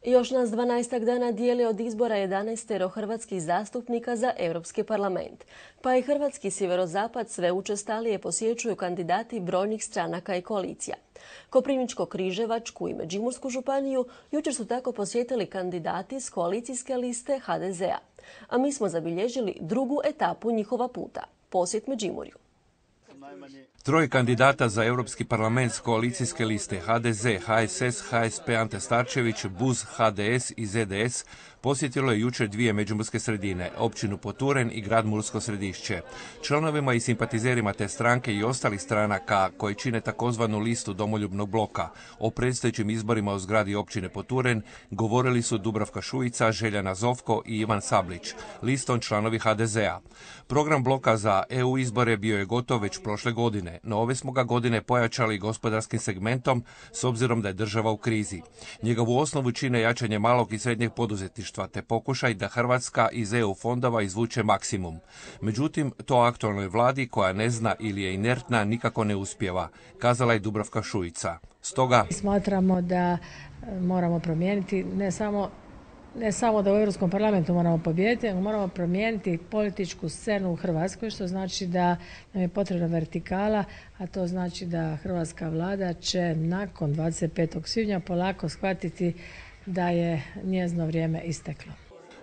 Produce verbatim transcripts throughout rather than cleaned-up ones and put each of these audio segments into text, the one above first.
Još nas dvanaestak dana dijeli od izbora jedanaestero hrvatskih zastupnika za Europski parlament. Pa i hrvatski sjeverozapad sve učestalije posjećuju kandidati brojnih stranaka i koalicija. Koprivničko-križevačku i Međimursku županiju jučer su tako posjetili kandidati s koalicijske liste ha de zea. A mi smo zabilježili drugu etapu njihova puta. Posjet Međimurju. Troje kandidata za Europski parlament s koalicijske liste ha de ze, ha es es, ha es pe Ante Starčević, buz, ha de es i ze de es posjetilo je jučer dvije međimurske sredine, općinu Poturen i grad Mursko Središće. Članovima i simpatizerima te stranke i ostalih stranaka koji čine takozvanu listu Domoljubnog bloka o predstojećim izborima u zgradi općine Poturen govorili su Dubravka Šuica, Željana Zovko i Ivan Sablić, listom članovi ha de zea. Program bloka za e u izbore bio je gotov već prošle godine, no ove smo ga godine pojačali gospodarskim segmentom s obzirom da je država u krizi. Njegovu osnovu čine jačanje malog i srednjeg poduzetništva te pokušaj da Hrvatska iz e u fondova izvuče maksimum. Međutim, to aktualnoj vladi koja ne zna ili je inertna nikako ne uspijeva, kazala je Dubravka Šuica. Stoga smatramo da moramo promijeniti ne samo Ne samo da u Europskom parlamentu moramo pobijediti, nego moramo promijeniti političku scenu u Hrvatskoj, što znači da nam je potrebna vertikala, a to znači da hrvatska vlada će nakon dvadeset petog svibnja polako shvatiti da je njezino vrijeme isteklo.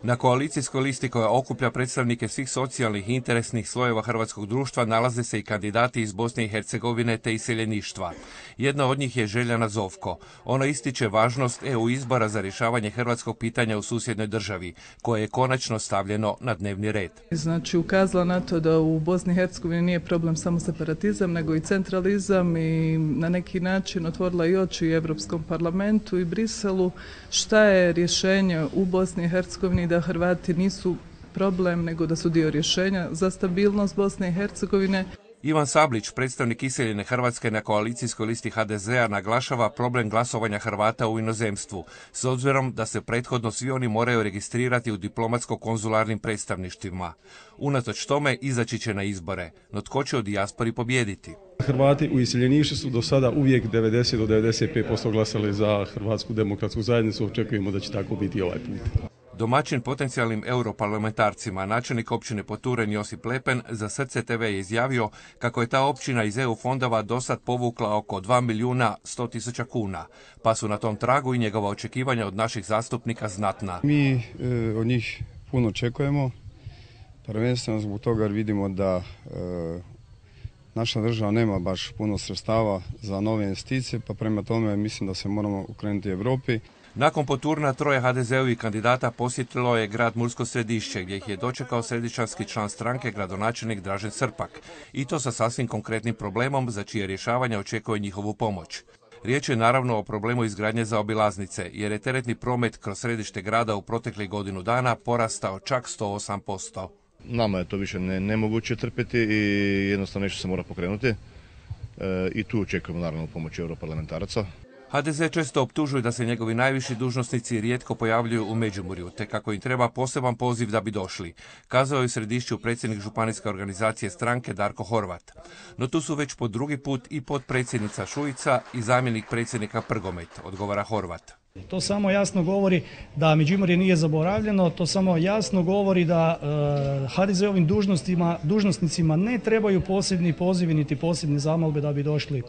Na koalicijskoj listi koja okuplja predstavnike svih socijalnih i interesnih slojeva hrvatskog društva nalaze se i kandidati iz Bosne i Hercegovine te iseljeništva. Jedna od njih je Željana Zovko. Ona ističe važnost e u izbora za rješavanje hrvatskog pitanja u susjednoj državi, koje je konačno stavljeno na dnevni red. Znači ukazala na to da u Bosni i Hercegovini nije problem samo separatizam, nego i centralizam i na neki način otvorila i oči Europskom parlamentu i Briselu šta je rješenje u Bosni i Hercegovini da Hrvati nisu problem, nego da su dio rješenja za stabilnost Bosne i Hercegovine. Ivan Sablić, predstavnik iseljene Hrvatske na koalicijskoj listi ha de zea, naglašava problem glasovanja Hrvata u inozemstvu, s obzirom da se prethodno svi oni moraju registrirati u diplomatsko-konzularnim predstavništvima. Unatoč tome izaći će na izbore, no tko će u dijaspori pobijediti? Hrvati u iseljeništvu su do sada uvijek devedeset do devedeset pet posto glasali za Hrvatsku demokratsku zajednicu, očekujemo da će tako biti ovaj put. Domaćin potencijalnim europarlamentarcima, načelnik općine Poturen Josip Lepen, za Srce te ve je izjavio kako je ta općina iz e u fondova dosad povukla oko dva milijuna sto tisuća kuna, pa su na tom tragu i njegova očekivanja od naših zastupnika znatna. Mi e, od njih puno očekujemo, prvenstveno zbog toga jer vidimo da e, naša država nema baš puno sredstava za nove investicije, pa prema tome mislim da se moramo okrenuti Europi. Nakon Poturna troje ha de zeovih kandidata posjetilo je grad Mursko Središće, gdje ih je dočekao središćanski član stranke, gradonačelnik Dražen Srpak. I to sa sasvim konkretnim problemom za čije rješavanje očekuje njihovu pomoć. Riječ je naravno o problemu izgradnje zaobilaznice, jer je teretni promet kroz središte grada u proteklih godinu dana porastao čak sto osam posto. Nama je to više ne, nemoguće trpiti i jednostavno nešto se mora pokrenuti. E, I tu očekujemo naravno pomoć europarlamentaraca. ha de ze često optužuju da se njegovi najviši dužnosnici rijetko pojavljuju u Međimurju, te kako im treba poseban poziv da bi došli, kazao je u Središću predsjednik županijske organizacije stranke Darko Horvat. No tu su već po drugi put i potpredsjednica Šuica i zamjenik predsjednika Prgomet, odgovara Horvat. To samo jasno govori da Međimurje nije zaboravljeno, to samo jasno govori da e, ha de zeovim dužnosnicima ne trebaju posebni pozivi niti posebne zamolbe da bi došli e,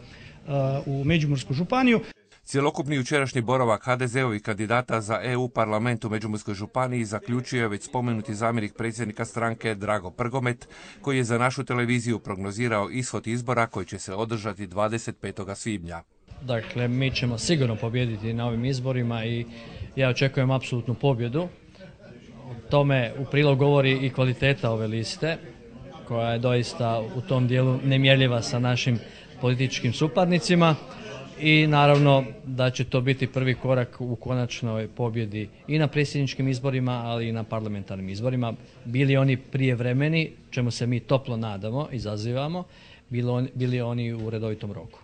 u Međimursku županiju. Cjelokupni jučerašnji boravak ha de zeovih kandidata za e u parlament u Međimurskoj županiji zaključio je već spomenuti zamjenik predsjednika stranke Drago Prgomet, koji je za našu televiziju prognozirao ishod izbora koji će se održati dvadeset petog svibnja. Dakle, mi ćemo sigurno pobijediti na ovim izborima i ja očekujem apsolutnu pobjedu. O tome u prilog govori i kvaliteta ove liste, koja je doista u tom dijelu nemjerljiva sa našim političkim suparnicima. I naravno da će to biti prvi korak u konačnoj pobjedi i na predsjedničkim izborima, ali i na parlamentarnim izborima. Bili oni prijevremeni, čemu se mi toplo nadamo i zazivamo, bili oni u redovitom roku.